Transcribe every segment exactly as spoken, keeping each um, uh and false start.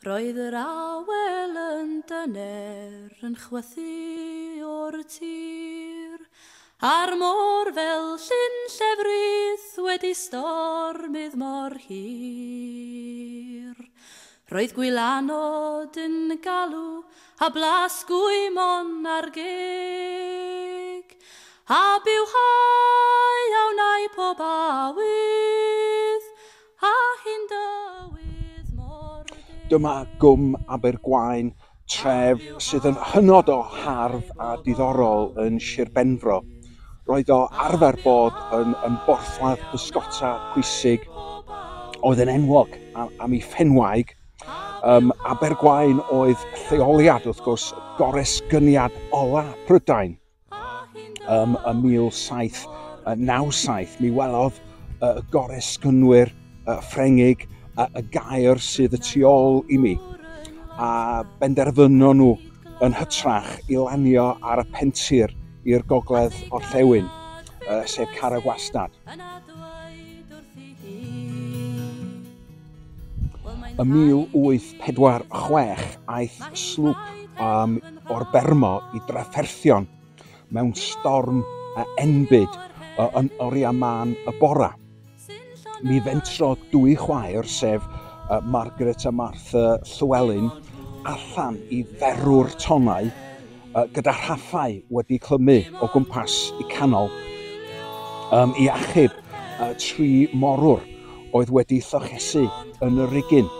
Roedd yr awel yn dyner yn chwythu o'r tir, a'r môr fel llyn llefrith wedi stormydd mor hir. Roedd gwylanod yn galw a blas gwymon ar geg, a bywhau a wnai pob awydd, a hyn dywydd mor deg. Dyma Gwm Abergwaun, tref sydd yn hynod o hardd a diddorol yn Sir Benfro. Roedd o arfer bod yn, yn borthladd pysgota pwysig oedd yn enwog am, am ei phenwaig. Um, Abergwaun oedd lleoliad, wrth gwrs, goresgyniad ola Prydain um, ym mil saith naw saith. Mi welodd y uh, goresgynwyr uh, Ffrengig uh, y gaer sydd y tu ôl i mi, a benderfynon nhw yn hytrach i lanio ar y pentir i'r gogledd orllewin, uh, sef Carreg Wastad. Ym mil wyth pedwar chwech aeth slwp um, o'r Bermo i drafferthion mewn storm enbyd uh, yn oriau mân y bora. Mi fentrodd dwy chwaer, sef uh, Margaret a Martha Llewellyn, allan i ferw'r tonnau uh, gyda rhaffau wedi clymu o gwmpas i canol um, i achub uh, tri morwr oedd wedi llochesu yn y rigin.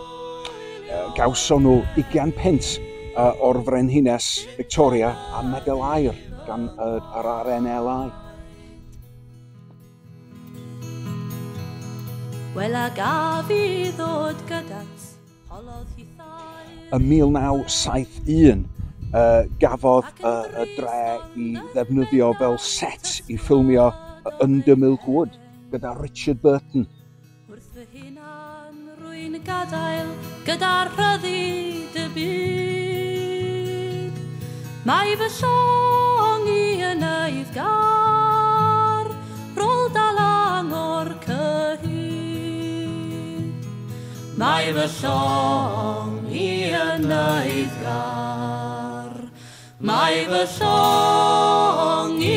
Uh, gawson nhw ugain punt uh, o'r Frenhines Victoria a medal aur gan uh, yr R N L I. Wel, a gaf i ddod gyda't, holodd hithau. Ym mil naw saith un uh, gafodd uh, y dre i ddefnyddio fel set i ffilmio Under Milk Wood gyda Richard Burton. Wrth fy hunan rwy'n gadael gyda'r rhyddid y byd. Mae fy llong i yn eiddgar, rôl dalang o'r cyhyd. Mae fy llong i yn eiddgar, mae fy llong i